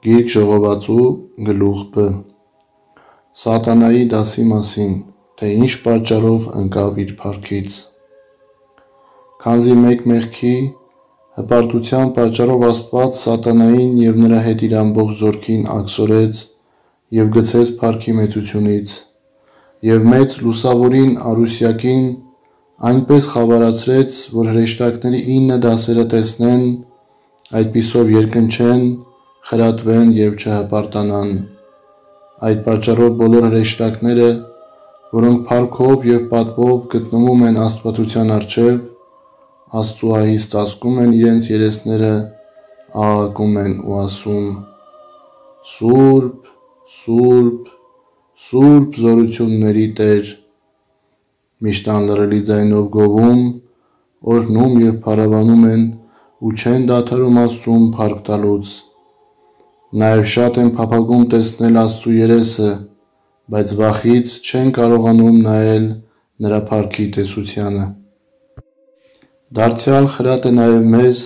Գիրք ժողովածու գլուխ Բ. Սատանայի դասի մասին, թե ինչ պատճառով ընկավ իր փառքից։ Քանզի մեկ մեղքի հպարտության պատճառով Աստված սատանային և նրա հետ իր ամբողջ զորքին աքսորեց և գցեց փառքի մեծությունից, և մեծ լուսավորին Արուսյակին այնպես խավարացրեց, որ հրեշտակների 9 դասերը տեսնեն, այդպիսով երկնչեն, խրատվեն և չհպարտանան։ Այդ պատճառով բոլոր հրեշտակները, որոնք փառքով և պատվով գտնվում են աստվածության առջև, Աստծուահիս ծածկում են իրենց երեսները, աղաղակում են ու ասում. «Սուրբ, Սուրբ, Սուրբ զորությունների Տեր», միշտ անլռելի ձայնով գովում, օրհնում և փառաբանում են ու չեն դադարում Աստծուն փառք տալուց։ Նաև շատ են փափագում տեսնել Աստծու երեսը, բայց վախից չեն կարողանում նայել նրա փառքի տեսությանը։ Դարձյալ խրատ է նաև մեզ,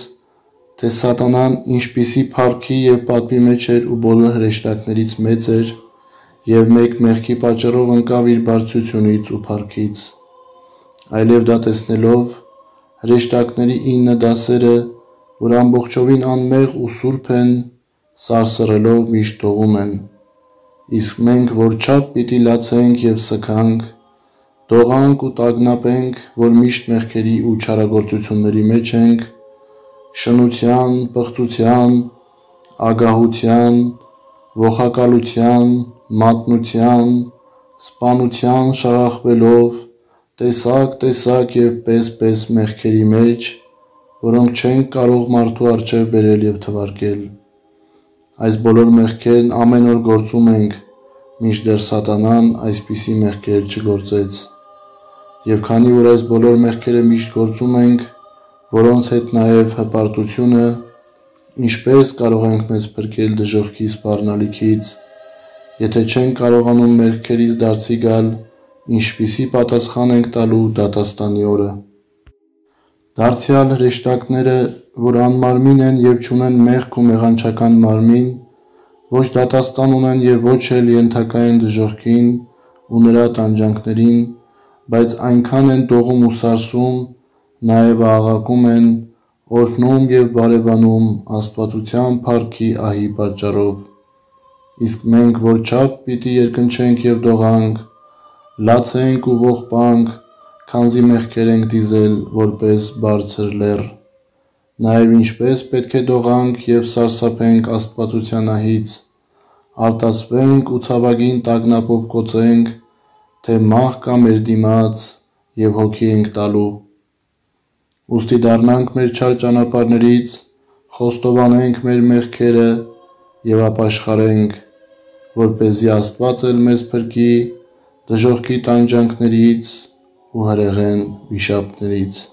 թե սատանան ինչպիսի փառքի և պատվի մեջ էր ու բոլոր հրեշտակներից մեծ էր և մեկ մեղքի պատճառով ընկավ իր բարձրությունից ու փառքից։ Այլև դա տեսնելով, հրեշտակների 9 դասերը, որ ամբողջովին անմեղ ու սուրբ են, սարսռելով միշտ դողում են։ Իսկ մենք որչափ պիտի լացենք և սգանք, դողանք ու տագնապենք, որ միշտ մեղքերի ու չարագործությունների մեջ ենք, շնության, պղծության, ագահության, ողակալության, մատնության, սպանության շաղախվելով, տեսակ և պես մեղքերի մեջ, որոնք չենք կարող մարդու առջև բերել և թվարկել։ Այս բոլոր մեղքերն ամեն օր գործում ենք, մինչդեռ սատանան այսպիսի մեղքեր չգործեց։ Եվ քանի որ այս բոլոր մեղքերը միշտ գործում ենք, որոնց հետ նաև հպարտությունը, ինչպե՞ս կարող ենք մեզ փրկել դժոխքի սպառնալիքից, եթե չենք կարողանում մեղքերից դարձի գալ, ինչպիսի պատասխան ենք տալու դատաստանի օրը։ Դարձյալ հրեշտակները, որ անմարմին են և չունեն մեղք ու մեղանչական մարմին, ոչ դատաստան ունեն և ոչ էլ ենթակա են դժոխքին ու նրա տանջանքներին, բայց այնքան են դողում ու սարսում, նաև աղաղակում են, օրհնում և բարևանում աստվածության փառքի ահի պատճառով։ Իսկ մենք որչափ պիտի երկնչենք և դողանք, լացենք ու ողբանք, քանզի մեղքեր ենք դիզել որպես բարձր լեռ։ Նաև ինչպես պետք է դողանք և սարսափենք աստվածության ահից, արտասվենք ու ցավագին տագնապով կոծենք, թե մահ կա մեր դիմաց և հոգի ենք տալու։ Ուստի դառնանք մեր չար ճանապարհներից, խոստովանենք մեր մեղքերը և ապաշխարենք, որպեսզի Աստված էլ մեզ փրկի դժոխքի տանջանքներից ու հրեղեն վիշապներից։